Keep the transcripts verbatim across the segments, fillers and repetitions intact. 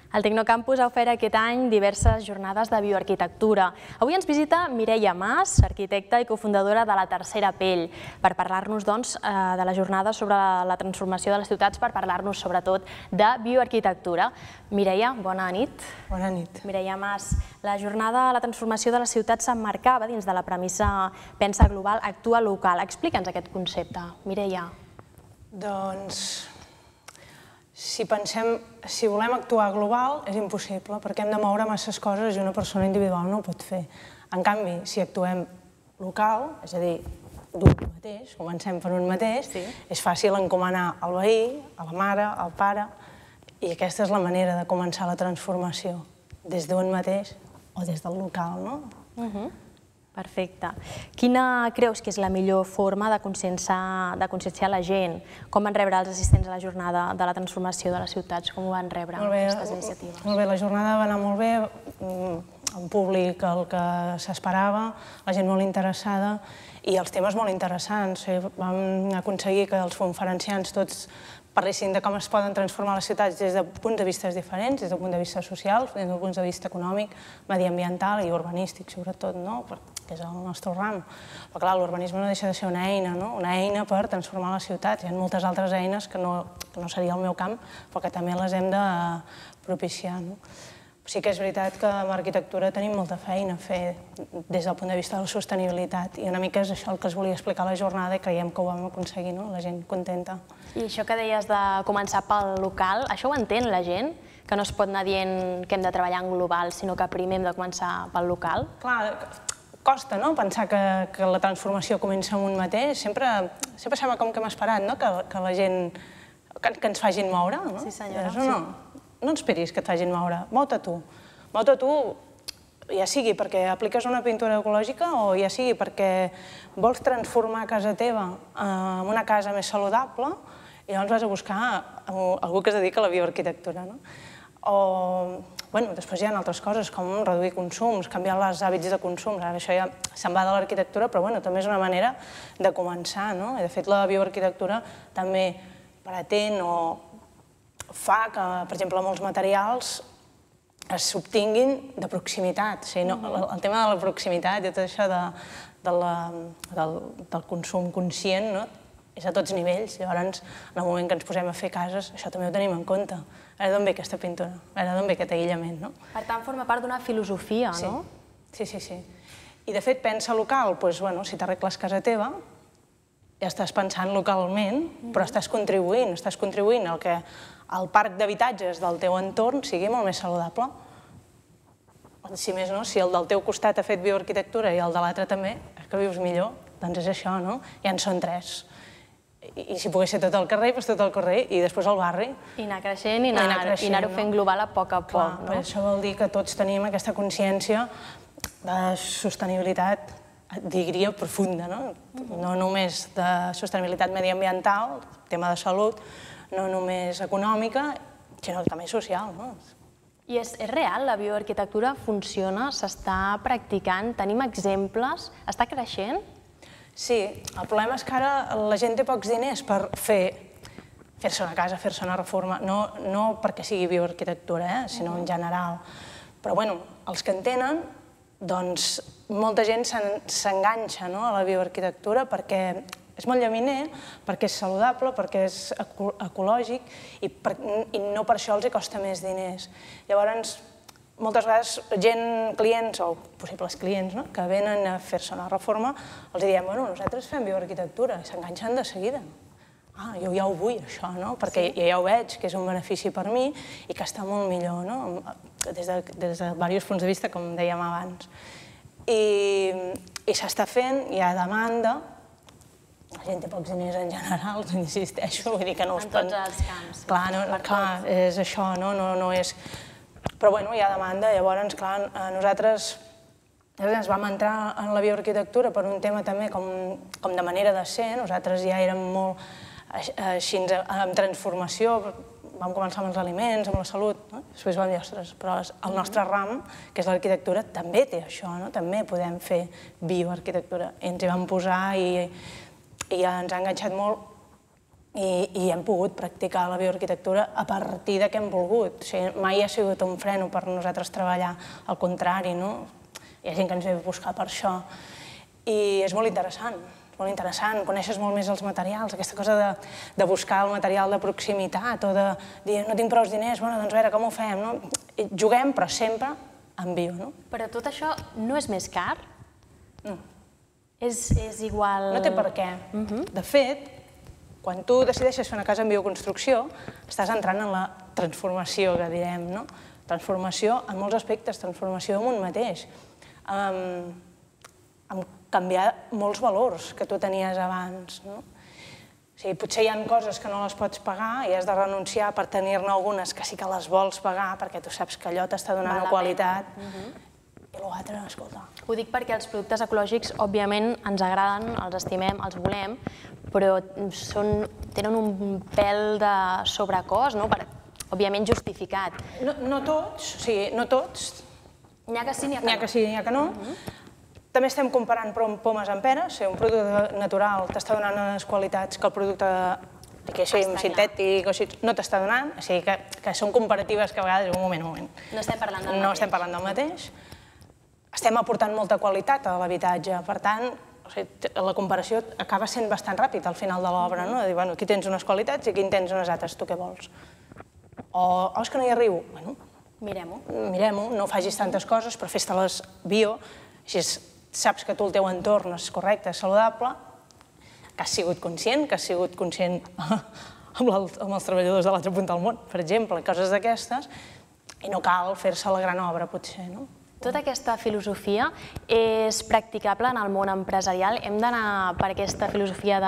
El Tecnocampus ha ofert aquest any diverses jornades de bioarquitectura. Avui ens visita Mireia Mas, arquitecta i cofundadora de La Tercera Pell, per parlar-nos doncs, de la jornada sobre la transformació de les ciutats, per parlar-nos sobretot de bioarquitectura. Mireia, bona nit. Bona nit. Mireia Mas, la jornada de la transformació de les ciutats s'emmarcava dins de la premissa pensa global, actua local. Explica'ns aquest concepte, Mireia. Doncs, si pensem, si volem actuar global és impossible, perquè hem de moure masses coses i una persona individual no ho pot fer. En canvi, si actuem local, és a dir, d'un mateix, comencem per un mateix, és fàcil encomanar al veí, a la mare, al pare, i aquesta és la manera de començar la transformació, des d'un mateix o des del local, no? Perfecte. Quina creus que és la millor forma de conscienciar la gent? Com van rebre els assistents a la jornada de la transformació de les ciutats? Com ho van rebre, aquestes iniciatives? Molt bé, la jornada va anar molt bé, en públic el que s'esperava, la gent molt interessada i els temes molt interessants. Vam aconseguir que els conferenciants tots parlessin de com es poden transformar les ciutats des de punts de vista diferents, des del punt de vista social, des del punt de vista econòmic, mediambiental i urbanístic, sobretot, que és el nostre ram. Però clar, l'urbanisme no deixa de ser una eina, una eina per transformar les ciutats. Hi ha moltes altres eines que no seria el meu camp, però que també les hem de propiciar. Sí que és veritat que amb arquitectura tenim molta feina a fer des del punt de vista de la sostenibilitat i una mica és això el que es volia explicar a la jornada i creiem que ho vam aconseguir, la gent contenta. I això que deies de començar pel local, això ho entén la gent? Que no es pot anar dient que hem de treballar en global, sinó que primer hem de començar pel local? Clar, costa, no?, pensar que la transformació comença en un mateix. Sempre sembla com que hem esperat, no?, que la gent, que ens facin moure, no? Sí, senyora. No esperis que et facin moure, mou-te tu. Mou-te tu, ja sigui perquè apliques una pintura ecològica o ja sigui perquè vols transformar casa teva en una casa més saludable i llavors vas a buscar algú que es dedica a la bioarquitectura. O, bueno, després hi ha altres coses com reduir consums, canviar els hàbits de consum. Ara això ja se'n va de l'arquitectura, però bueno, també és una manera de començar, no? I de fet la bioarquitectura també pretén o fa que, per exemple, molts materials s'obtinguin de proximitat. El tema de la proximitat i tot això del consum conscient és a tots nivells. Llavors, en el moment que ens posem a fer cases, això també ho tenim en compte. Ara d'on ve aquesta pintura? Ara d'on ve aquest aïllament? Per tant, forma part d'una filosofia, no? Sí, sí, sí. I, de fet, pensa local. Doncs, bueno, si t'arregles casa teva, ja estàs pensant localment, però estàs contribuint, estàs contribuint al que el parc d'habitatges del teu entorn sigui molt més saludable. Si més no, si el del teu costat ha fet bioarquitectura i el de l'altre també, és que vius millor. Doncs és això, no? Ja en són tres. I si pogués ser tot el carrer, doncs tot el carrer, i després el barri. I anar creixent i anar-ho fent global a poc a poc, no? Això vol dir que tots tenim aquesta consciència de sostenibilitat, diria, profunda, no? No només de sostenibilitat mediambiental, tema de salut, no només econòmica, sinó també social. I és real? La bioarquitectura funciona? S'està practicant? Tenim exemples? Està creixent? Sí, el problema és que ara la gent té pocs diners per fer-se una casa, fer-se una reforma, no perquè sigui bioarquitectura, sinó en general. Però, bueno, els que en tenen, doncs molta gent s'enganxa a la bioarquitectura perquè és molt llaminer, perquè és saludable, perquè és ecològic i no per això els costa més diners. Llavors, moltes vegades gent, clients o possibles clients que venen a fer-se una reforma, els diem, bueno, nosaltres fem bioarquitectura, i s'enganxen de seguida. Ah, jo ja ho vull, això, perquè ja ho veig, que és un benefici per mi i que està molt millor, des de diversos punts de vista, com dèiem abans. I s'està fent, hi ha demanda, la gent té pocs diners en general, insisteixo, vull dir que no us... En tots els camps. Clar, és això, no és... Però, bueno, hi ha demanda, llavors, clar, nosaltres ens vam entrar en la bioarquitectura per un tema també com de manera de ser, nosaltres ja érem molt així en transformació, vam començar amb els aliments, amb la salut, després vam dir, ostres, però el nostre ram, que és l'arquitectura, també té això, també podem fer bioarquitectura. Ens hi vam posar i ens ha enganxat molt i hem pogut practicar la bioarquitectura a partir de que hem volgut. Mai ha sigut un freno per nosaltres treballar, al contrari, no? Hi ha gent que ens ve a buscar per això. I és molt interessant, molt interessant, coneixes molt més els materials, aquesta cosa de buscar el material de proximitat o de dir, no tinc prou diners, bueno, doncs a veure, com ho fem, no? Juguem, però sempre en bio, no? Però tot això no és més car? No. És igual... No té per què. De fet, quan tu decideixes fer una casa en bioconstrucció, estàs entrant en la transformació, que direm, no? Transformació en molts aspectes, transformació en un mateix. En canviar molts valors que tu tenies abans, no? O sigui, potser hi ha coses que no les pots pagar i has de renunciar per tenir-ne algunes que sí que les vols pagar perquè tu saps que allò t'està donant una qualitat. I l'altre, escolta... Ho dic perquè els productes ecològics, òbviament, ens agraden, els estimem, els volem, però tenen un pèl de sobrecost, òbviament justificat. No tots, o sigui, no tots. N'hi ha que sí, n'hi ha que no. N'hi ha que sí, n'hi ha que no. També estem comparant pomes amb peres. Un producte natural t'està donant unes qualitats que el producte sintètic no t'està donant. O sigui que són comparatives que a vegades, un moment, un moment. No estem parlant del mateix. No estem parlant del mateix. Estem aportant molta qualitat a l'habitatge. Per tant, la comparació acaba sent bastant ràpid al final de l'obra. De dir, bueno, aquí tens unes qualitats i aquí en tens unes altres, tu què vols? O, oh, és que no hi arribo. Bueno, mirem-ho. Mirem-ho, no facis tantes coses, però fes-te-les bio, així saps que tu el teu entorn és correcte, és saludable, que has sigut conscient, que has sigut conscient amb els treballadors de l'altra punta del món, per exemple, coses d'aquestes, i no cal fer-se la gran obra, potser, no? Tota aquesta filosofia és practicable en el món empresarial? Hem d'anar per aquesta filosofia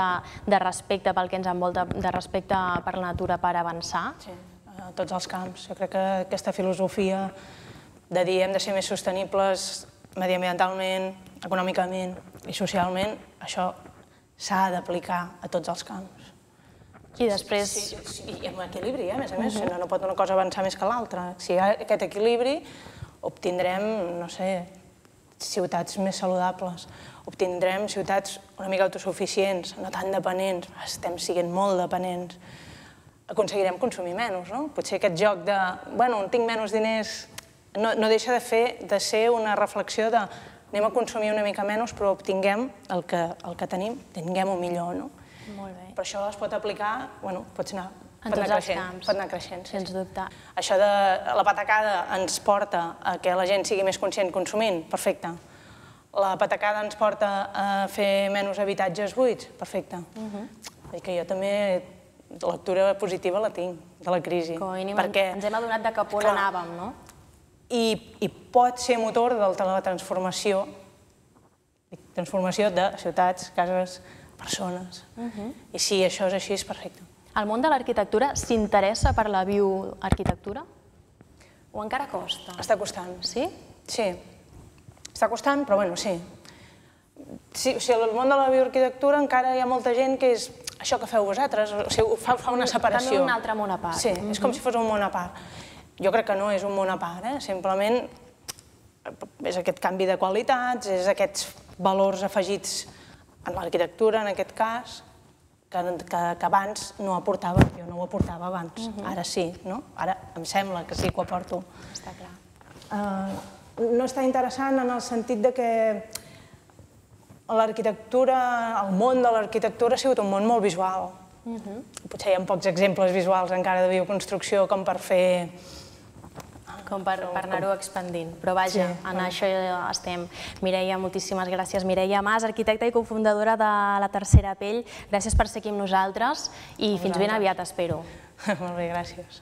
de respecte pel que ens envolta, de respecte per la natura per avançar? Sí, a tots els camps. Jo crec que aquesta filosofia de dir hem de ser més sostenibles mediambientalment, econòmicament i socialment, això s'ha d'aplicar a tots els camps. I després... I amb equilibri, a més a més, no pot una cosa avançar més que l'altra. Si hi ha aquest equilibri, obtindrem, no sé, ciutats més saludables, obtindrem ciutats una mica autosuficients, no tan dependents, estem sent molt dependents, aconseguirem consumir menys, no? Potser aquest joc de, bueno, tinc menys diners, no deixa de fer, de ser una reflexió de anem a consumir una mica menys, però obtinguem el que tenim, tinguem-ho millor, no? Molt bé. Però això es pot aplicar, bueno, pot anar en tots els camps, pot anar creixent, sens dubte. Això de la patacada ens porta a que la gent sigui més conscient consumint, perfecte. La patacada ens porta a fer menys habitatges buits, perfecte. Vull dir que jo també la lectura positiva la tinc, de la crisi. Com a mínim ens hem adonat de cap on anàvem, no? I pot ser motor de la transformació, transformació de ciutats, cases, persones. I si això és així, és perfecte. El món de l'arquitectura s'interessa per la bioarquitectura? O encara costa? Està costant. Sí? Sí. Està costant, però bueno, sí. O sigui, al món de la bioarquitectura encara hi ha molta gent que és això que feu vosaltres, o sigui, fa una separació. També un altre món a part. Sí, és com si fos un món a part. Jo crec que no és un món a part, simplement és aquest canvi de qualitats, és aquests valors afegits en l'arquitectura, en aquest cas, que abans no aportava, jo no ho aportava abans, ara sí, no? Ara em sembla que sí que ho aporto. Està clar. No està interessant en el sentit de que l'arquitectura, el món de l'arquitectura ha sigut un món molt visual. Potser hi ha pocs exemples visuals encara de bioconstrucció com per fer... Com per anar-ho expandint. Però vaja, en això estem. Mireia, moltíssimes gràcies. Mireia Mas, arquitecta i cofundadora de La Tercera Pell. Gràcies per ser aquí amb nosaltres i fins ben aviat, espero. Molt bé, gràcies.